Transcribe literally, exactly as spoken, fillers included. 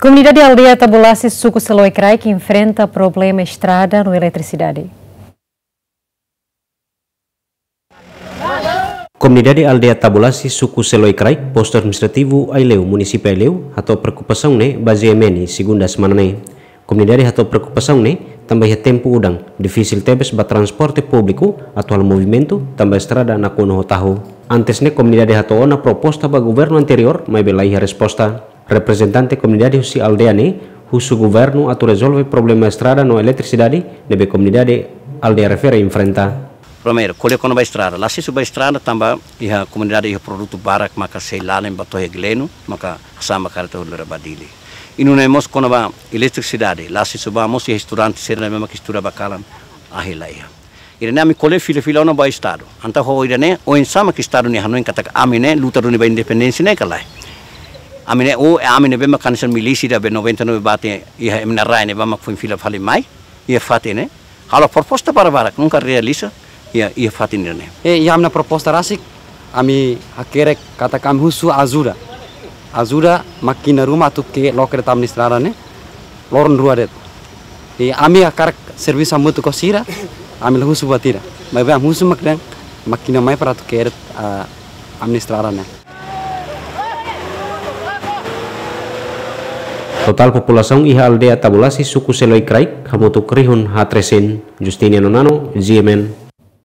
Komunidade aldeia Tabulasi, suku Seloi Kraik, enfrenta problema estrada no eletrisidade. Komunidade aldeia Tabulasi, suku Seloi Kraik, postu administrativu Aileu, munisípiu Aileu, hato'o preokupasaun ne'e ba G M N, segunda semana ne'e. Komunidade hato'o preokupasaun ne'e tanba iha tempu udan difisil tebes ba transporte públiku atu halo movimentu tanba estrada nakonu ho tahu. Antes ne'e komunidade hato'o ona proposta ba governu anteriór, maibé la iha resposta. Reprezentante komunidade husi aldeia ne'e husu governu atu rezolve problema estrada no eletrisidade ne'ebé komunidade aldeia refere enfrenta. Primeiru, ko'alia kona-ba estrada. La aksesu ba estrada tanba iha komunidade iha produtu barak maka sei lalen ba to'o iha Gleno, maka hasa'e ba karreta hodi lori ba Dili. I nune'e mós kona-ba eletrisidade. La aksesu ba mós iha estudante sira ne'ebé maka estuda ba kalan ahi la iha. Ida-ne'e ami ko'alia fila-fila ona ba Estadu. Entaun ho ida-ne'e, oinsá mak Estadu ne'e hanoin katak ami ne'e luta duni ba independénsia ne'e ka lae. Ami ne'e, o, ami ne'ebé mak hanesan milísia ida be noventa e nove bate iha ema nia rai ne'ebá mak foin fila fali mai iha fatin ne'e. Halo proposta para barak, nunka realiza iha, iha fatin ne'e. E, iha ami-nia proposta rasik, ami hakerek katak ami husu ajuda. Ajuda mákina ruma atu ke loke de'it ami-nia estrada ne'e loron rua de'it. I ami hakarak servisu hamutuk ho sira, ami la husu buat ida. Maibé ami husu mak dehan mákina mai para atu ke de'it, ah, ami-nia estrada ne'e. Totál populasaun iha aldeia Tabulasi, suku Seloi Kraik, hamutuk rihun haat resin. Justiniano Nano, G M N,